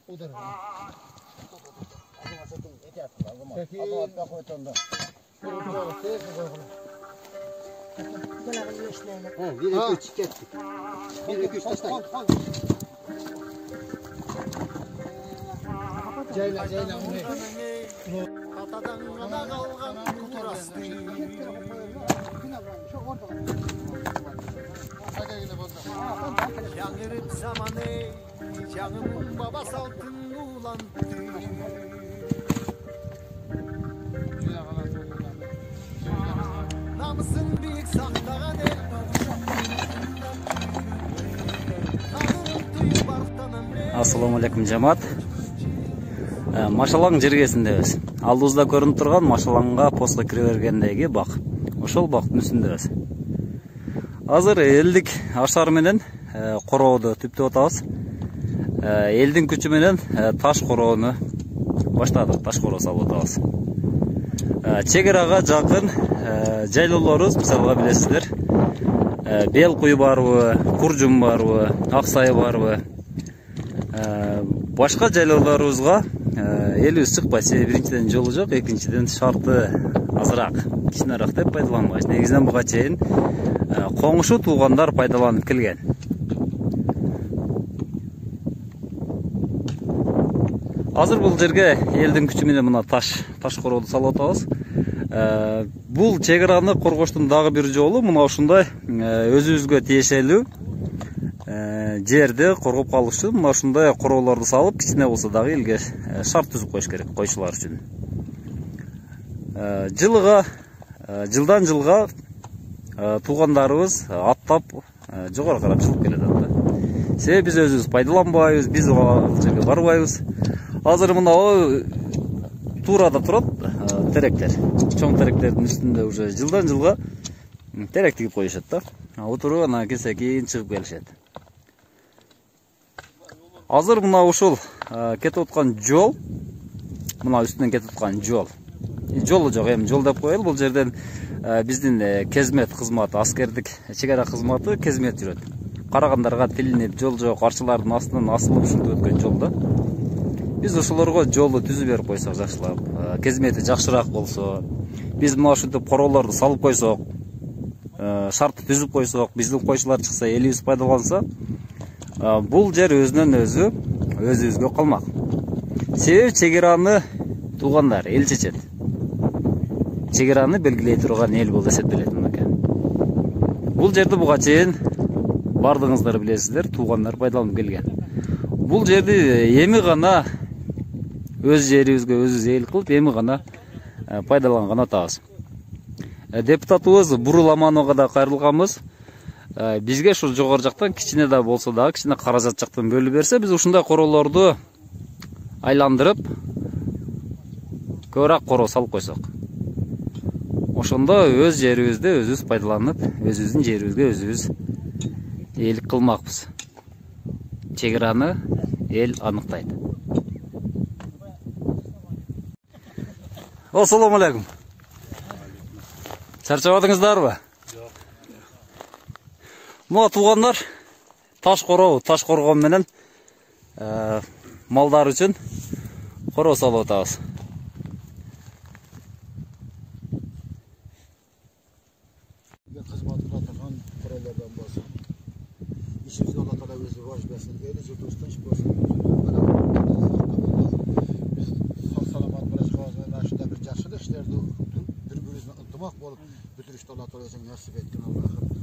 Udur. Жаңырып заманы, жаңым баба салтын улантты. Намысын бийик сактаган эл. Ассаламу алейкум жамаат. Машалаң жергесиндебиз. Алдыбызда көрүнүп турган Машалаңга постко кире бергендеги бак. Ошол бактын үстүндөбүз. Азыр элдик ашар менен корооду түптөп атабыз. Элдин күчү менен таш короону баштадык. Таш короо салып атабыз. Чек арага жакын жайлоолорубуз, мисалга билесиздер, Бел куй барбы, Куржум барбы, Аксай барбы. Башка жайлоолорубузга элибиз чыкпайт. Себеби биринчиден жолу жок, экинчиден шарты азыраак, кичинераак деп пайдаланбайбыз. Негизинен буга чейин коңшу туугандар пайдаланып келген. Азыр бул жерге элдин күчү менен мына таш корооду салып атабыз. Бул чек араны коргоштун дагы бир жолу мына ушундай өзүбүзгө тиешелүү жерди коргоп калыш үчүн мына ушундай короолорду салып, кичине болсо дагы элге шарт түзүп коюш керек койчулар үчүн. Жылдан жылга туугандарыбыз аттап жогору карап чыгып келе жатат да. Себеби биз өзүбүз пайдаланбайбыз, биз ал жерге барбайбыз. Азыр мына туурада турат теректер. Чоң теректердин үстүндө уже жылдан жылга терек тигип коюшат да. Отуруп анан келсе кийин чыгып келишет. Азыр мына ушул кетип аткан жол, мына үстүнөн кетип аткан жол. Жолу жок, эми жол деп коелу. Бул жерден биздин кезмет кызматы, аскердик чек ара кызматы кезмет жүрөт. Карагандарга тилинип, жол жок, арчылардын астынан асылып ушинтип өткөн жол да. Биз ошолорго жолду түзүп берип койсок жакшылап, кезмети жакшыраак болсо, биз мына ушинтип короолорду салып койсок, шартты түзүп койсок, биздин койчулар чыкса, элибиз пайдаланса, бул жер өзүнөн өзү өзүбүзгө калмак. Себеби чек араны туугандар эл чечет. Чек араны белгилей турган эл болуп эсептелет мынакей. Бул жерди буга чейин бардыгыңыздар билесиздер, туугандар пайдаланып келген. Бул жерди эми гана өз жерибизге өзүбүз эл кылып, эми гана пайдаланган атабыз. Депутатыбыз Бурул Амановго да кайрылганбыз. Бизге ушу жогору жактан кичине да болсо дагы кичине каражат жактан бөлүп берсе, биз ушундай короолорду айландырып көбүрөөк короо салып койсок. Ошондо өз жерибизди өзүбүз пайдаланып, өзүбүздүн жерибизге өзүбүз ээлик кылмакпыз. Чек араны эл аныктайт. Ассаламу алейкум. Чарчабадыңыздарбы? Жок. Мына туугандар таш коргон менен малдар үчүн короо салып атабыз. Кызматына турган короолордон болсо, ишибизге Алла таала өзү баш берсин. Эли журтубуз тынч болсун. Биз сак-саламат болушубузга ушундай бир жакшы иштерди бири-бирибизден ынтымак болуп бүтүрүштү Алла таала өзү насип эткин Аллахым.